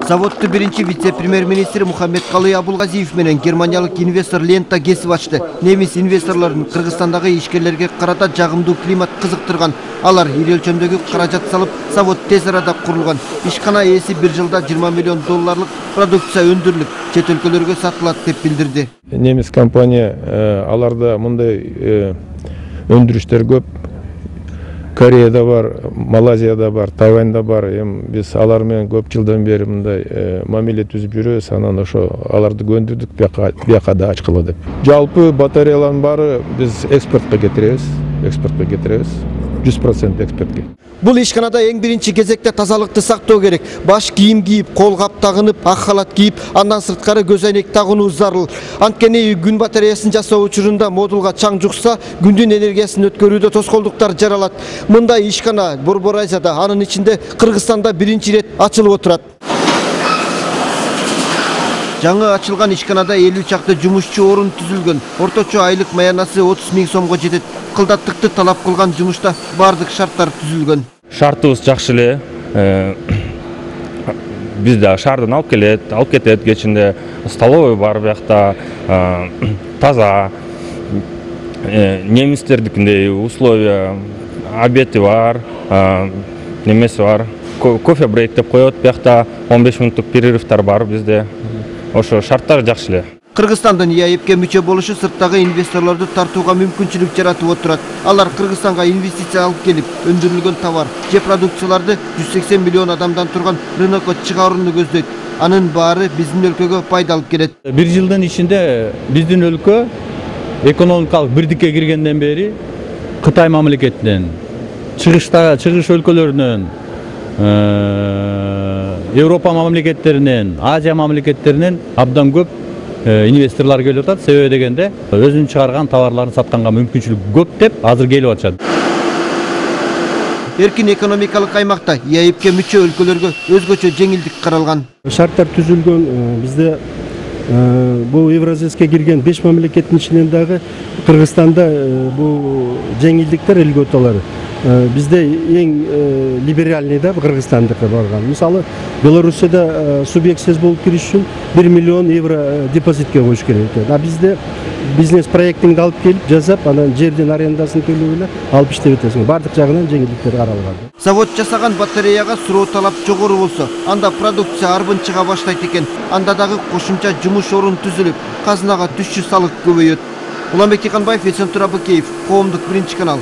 Заводду биринчи вице-премьер-министр Мухаммедкалый Абулгазиев менен германиялык инвестор Лента кесип ачты. Немис инвесторлорун Кыргызстандагы ишкерлерге карата жагымдуу климат кызыктырган. Алар ири өлчөмдөгү каражат салып, завод тез арада курулган. Ишкана ээси бир жылда 20 миллион долларлык продукция өндүрүлүп, чет өлкөлөргө сатылат деп билдирди. Немис компания аларда мындай өндүрүштөр көп. Кореяда бар, Малайзияда бар, Тайваньда бар. Биз алар менен көп жылдан бери мындай мамиле түзүп жүрөбүз. Анан ошо аларды көндүрдүк, бияка да ачкыла деп. Жалпы батареялардын баары биз экспортко кетиребиз. 100% экспортко. Бул ишканада эң биринчи кезекте тазалыкты сактоо керек. Баш кийим кийип, кол кап тагынып, ак халат кийип, андан сырткары көз айнек тагынуу зарыл. Анткени күн батареясын жасоо учурунда модулга чаң жукса, күндүн энергиясын өткөрүүдө тоскоолдуктар жаралат. Мындай ишкана Борбор Азияда, анын ичинде Кыргызстанда биринчи рет ачылып отурат. Жаңы ачылган ишканада 50 чакты жумушчу орун түзүлгөн. Орточо айлык маянасы 30 000 сомго жетет. Кылдаттыкты талап кылган жумушта бардык шарттар түзүлгөн. Шартыбыз жакшы эле. Бизде шаардан алып кетет, кечинде столовый бар биякта, таза. Немистердикиндей условия, обеди бар, немеси бар. Кофе брейк деп коет биякта, 15 минуттук перерывтар бар бизде. Ошо шарттар жакшы эле. Кыргызстандын ИАЭПке мүчө болушу сырттагы инвесторлорду тартууга мүмкүнчүлүк жаратып отурат. Алар Кыргызстанга инвестиция алып келип, өндүрүлгөн товар же продукцияларды 180 миллион адамдан турган рынокко чыгарууну көздөйт. Анын баары биздин өлкөгө пайда алып келет. Бир жылдын ичинде биздин өлкө экономикалык бирдикке киргенден бери Кытай мамлекетинен, чыгыш өлкөлөрүнөн, Европа мамлекеттеринен, Азия мамлекеттеринен абдан көп инвесторлор келип атат. Себеби дегенде өзүнүн чыгарган товарларын сатканга мүмкүнчүлүк көп деп азыр келип атышат. Эркин экономикалык аймакта ИАЭПке мүчө өлкөлөргө өзгөчө жеңилдик каралган. Шарттар түзүлгөн. Бизде бул Евразияска кирген 5 мамлекеттин ичинен дагы Кыргызстанда бул жеңилдиктер льготалар бизде эң либеральный да Кыргызстандыкка барган. Мисалы, Белоруссияда субъектсиз болуп кириш үчүн 1 миллион евро депозитке коюш керек экен. А бизде бизнес проектиңди алып келип жасап, анан жердин арендасын төлөп эле алып иштеп атасың. Бардык жагынан жеңилдиктер каралган. Завод жасаган батареяга суроо талап жогору болсо, анда продукция арбын чыга баштайт экен. Анда дагы кошумча жумуш орун түзүлүп, казынага түшчү салык көбөйөт. Уланбек Тиканбаев, Эсен Турабыкеев, Коомдук биринчи канал.